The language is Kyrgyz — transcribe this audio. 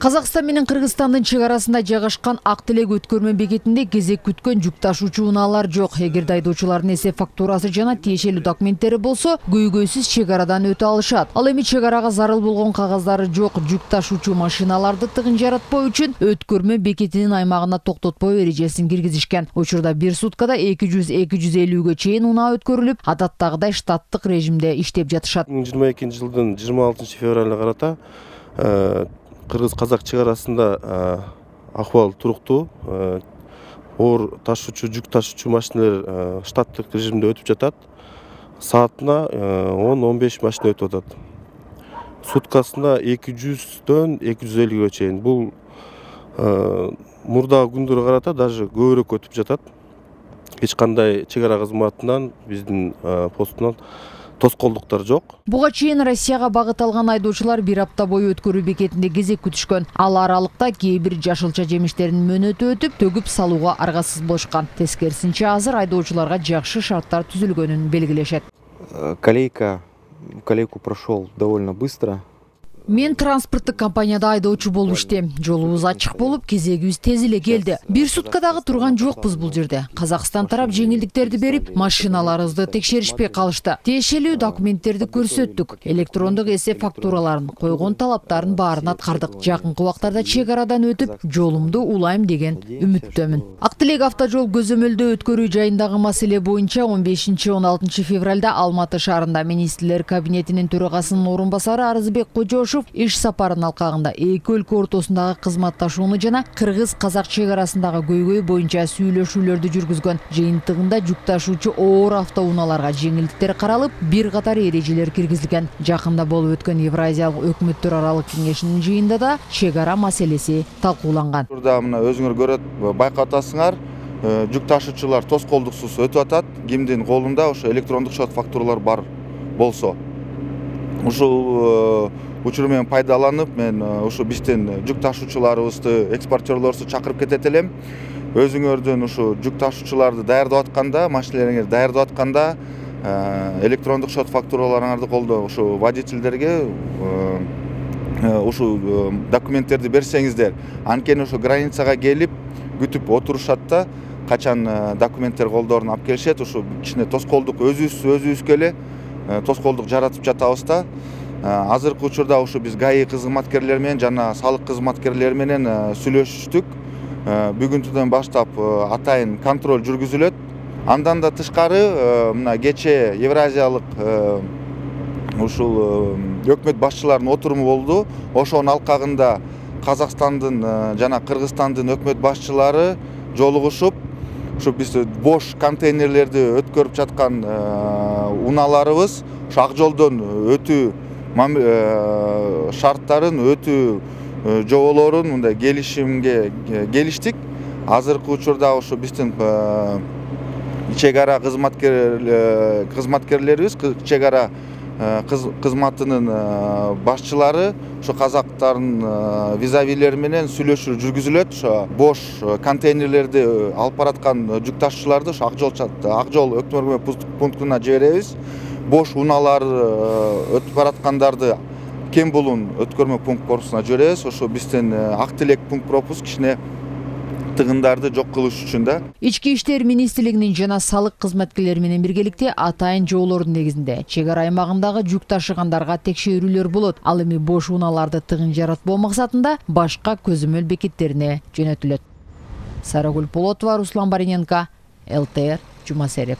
Казакстан менен Кыргызстандын чек арасында жайгашкан Ак Телек өткөрмө бекетинде кезек күткөн жүк ташуучу унаалар жок. Эгерде айдоочулардын эсеп фактурасы жана тиешелүү документтери болсо, көйгөйсүз чек арадан өтө алышат. Ал эми чек арага зарыл болгон кагаздары жок жүк ташуучу машиналарды тыгын жаратпоо үчүн өткөрмө бекетинин аймагына токтотпоо эрежесин киргизишкен. Учурда бир суткада 200-250гө чейин унаа өткөрүлүп, адаттагыдай штаттык режимде иштеп жатышат. 2022 жылдын 26 февралына карата Кыргыз-Казак чек арасында акыбал туруктуу. Оор ташуучу, жүк ташуучу машиналар штаттык режимде өтүп жатат. Саатына 10-15 машина өтүп атат. Суткасында 200-дөн 250гө чейин. Бул мурдагы күндөргө карата даже көбүрөөк өтүп жатат. Эч кандай чек ара кызматынан, биздин постунан тоскоолдуктар жок. Буга чейин Россияга багыт алган айдоочулар бир апта бою өткөрүү бекетинде кезек күтүшкөн. Ал аралыкта кээ бир жашылча жемиштердин мөөнөтү өтүп, төгүп салууга аргасыз болушкан. Тескерисинче азыр айдоочуларга жакшы шарттар түзүлгөнүн белгилешет. Колейку прошел довольно быстро. Мен транспорттук компанияда айдоочу болуп иштейм. Жолубуз ачык болуп, кезегибиз тез эле келди. Бир суткадагы турган жокпуз бул жерде. Казакстан тарап жеңилдиктерди берип, машиналарыбызды текшеришпей калышты. Тиешелүү документтерди көрсөттүк. Электрондук эсеп фактураларын, койгон талаптарын баарын аткардык. Жакынкы убактарда чек арадан өтүп, жолумду улайм деген үмүттөмүн. Ак Телек автожол көзөмөлдөө өткөрүү жайындагы маселе боюнча 15-16 февралда Алматы шаарында министрлер кабинетинин төрагасынын орун басары Арызбек Кожошов иш сапарынын алкагында эки өлкө ортосундагы кызматташууну жана Кыргыз-Казак чек арасындагы көйгөй боюнча сүйлөшүүлөрдү жүргүзгөн. Жыйынтыгында жүк ташуучу оор автоунааларга жеңилдиктер каралып, бир катар эрежелер киргизилген. Жакында болуп өткөн Евразиялык өкмөттөр аралык кеңешинин жыйынында да чек ара маселеси талкууланган. Турда мына өзүңөр көрөт, байкап атасыңар, жүк ташуучулар тоскоолдуксуз өтүп атат. Кимдин колунда ошо электрондук шот фактуралар бар болсо. Ушул учур менен пайдаланып, мен ушу биздин жүк ташуучуларыбызды, экспортерлорубузду чакырып кетет элем. Өзүңөрдүн ушу жүк ташуучуларды даярдап атканда, машиналарыңарды даярдап атканда, электрондук шот фактураларыңарды колдоо, ушу водительдерге ушу документтерди берсеңиздер, анткени ушу границага келип күтүп отурушат да, качан документтер колдорун алып келишет, ушу кичине тоскоолдук өзүбүзгө эле тоскоолдук жаратып жатабыз да. Азыркы учурда ушу биз ГАИ кызматкерлери менен жана салык кызматкерлери менен сүйлөшүштүк. Бүгүнкүдөн баштап атайын контроль жүргүзүлөт. Андан да тышкары мына кечээ Евразиялык ушул өкмөт башчыларынын отуруму болду. Ошонун алкагында Казакстандын жана Кыргызстандын өкмөт башчылары жолугушуп, ушу биз бош контейнерлерди өткөрүп жаткан унааларыбыз ушу ак жолдон өтүү шарттарын өтүү жоболорун мындай келишимге келиштик. Азыркы учурда ушу биздин чек ара кызматкерлерибиз, чек ара кызматынын башчылары ушу казактардын визавилери менен сүйлөшүү жүргүзүлөт. Ошо бош контейнерлерди алып бараткан жүк ташуучуларды ошо ак жол өткөрмө пунктуна жиберебиз. Бош унаалар өтүп бараткандарды Кем Булун өткөрмө пункт корпусуна жиберебиз. Ошо биздин Ак Телек пункт пропуск кичине тыгындарды жок кылыш үчүн да. Ички иштер министрлигинин жана салык кызматкерлери менен биргеликте атайын жоболордун негизинде чек ара аймагындагы жүк ташыгандарга текшерүүлөр болот. Ал эми бош унааларды тыгын жаратпоо максатында башка көзөмөл бекеттерине жөнөтүлөт. Сарагүл Полотова, Руслан Бариненко, ЛТР, Жума Сереп.